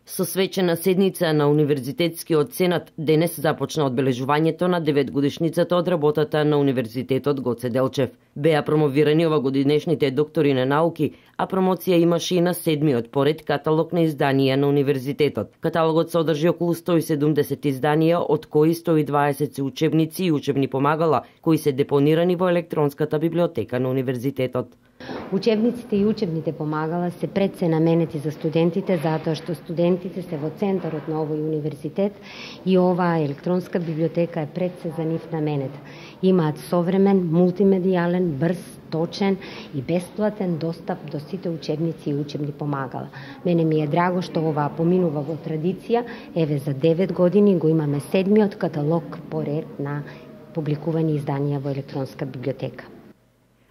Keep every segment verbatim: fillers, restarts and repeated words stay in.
Со свечена седница на Универзитетскиот сенат денес започна одбележувањето на деветгодишницата од работата на Универзитетот Гоце Делчев. Беа промовирани овогодинешните доктори на науки, а промоција имаше и на седмиот поред каталог на изданија на универзитетот. Каталогот содржи околу сто и седумдесет изданија, од кои сто и дваесет се учебници и учебни помагала, кои се депонирани во електронската библиотека на универзитетот. Учебниците и учебните помагала се пред се наменети за студентите, затоа што студентите се во центарот на овој универзитет и оваа електронска библиотека е пред се за нив наменета. Имаат современ, мултимедијален, брз, точен и бесплатен достап до сите учебници и учебни помагала. Мене ми е драго што оваа поминува во традиција, еве за девет години го имаме седмиот каталог по ред на публикувани изданија во електронска библиотека.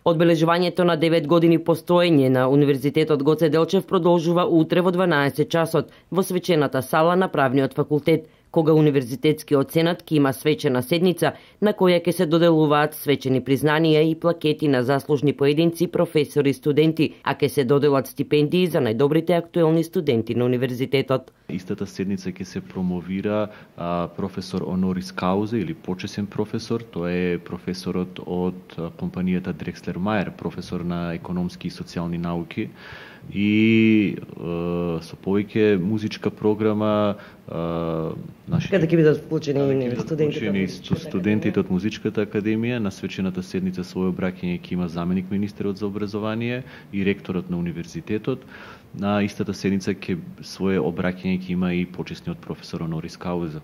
Одбележувањето на девет години постоење на Универзитетот Гоце Делчев продолжува утре во дванаесет часот во свечената сала на Правниот факултет, кога Универзитетскиот сенат ќе има свечена седница на која ќе се доделуваат свечени признанија и плакети на заслужни поединци, професори и студенти, а ќе се доделат стипендии за најдобрите актуелни студенти на универзитетот. Истата седница ќе се промовира а, професор Онорис Каузе или почесен професор, тоа е професорот од компанијата Дрекслер Мајер, професор на економски и социјални науки, и е, со повеќе музичка програма, нашите каде ќе бидат вклучени студентите, студентите од музичката академија. На свечената седница своје обраќање ќе има заменик министерот за образование и ректорот на универзитетот. На истата седница ќе свое обраќање ќе има и почесниот професор Онорис Кауза.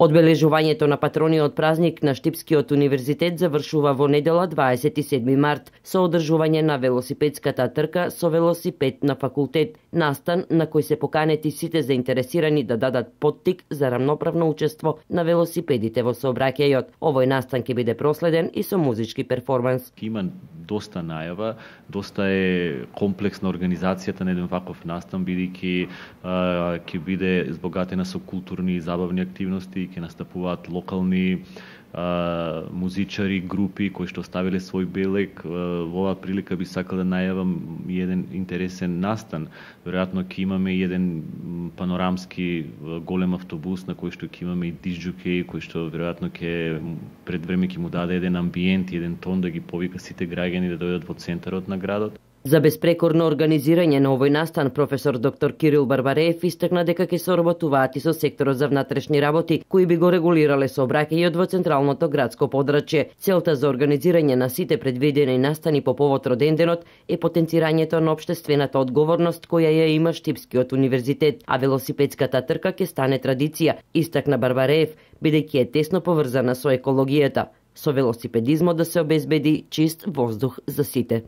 Одбележувањето на патрониот празник на Штипскиот универзитет завршува во недела дваесет и седми март со одржување на велосипедската трка со велосипед на факултет, настан на кој се поканети сите заинтересирани да дадат поттик за рамноправно учество на велосипедите во сообраќајот. Овој настан ќе биде проследен и со музички перформанс. Има доста најава, доста е комплексна организацијата на еден ваков настан, бидејќи ќе биде збогатена со културни и забавни активности, ќе настапуваат локални а, музичари, групи кои што ставиле свој белег. Во оваа прилика би сакал да најавам еден интересен настан. Веројатно ќе имаме еден панорамски голем автобус на кој што ќе имаме и дисџокеи, кој што веројатно ќе пред време ќе му даде еден амбиент, еден тон да ги повика сите граѓани да дојдат во центарот на градот. За безпрекорно организирање на овој настан, професор доктор Кирил Барбареев истакна дека ќе соработуваат и со секторот за внатрешни работи, кои би го регулирале сообраќајот во централното градско подрачје. Целта за организирање на сите предвидени настани по повод роденденот е потенцирањето на општествената одговорност која ја има Штипскиот универзитет, а велосипедската трка ќе стане традиција, истакна Барбареев, бидејќи е тесно поврзана со екологијата. Со велосипедизмот да се обезбеди чист воздух за сите.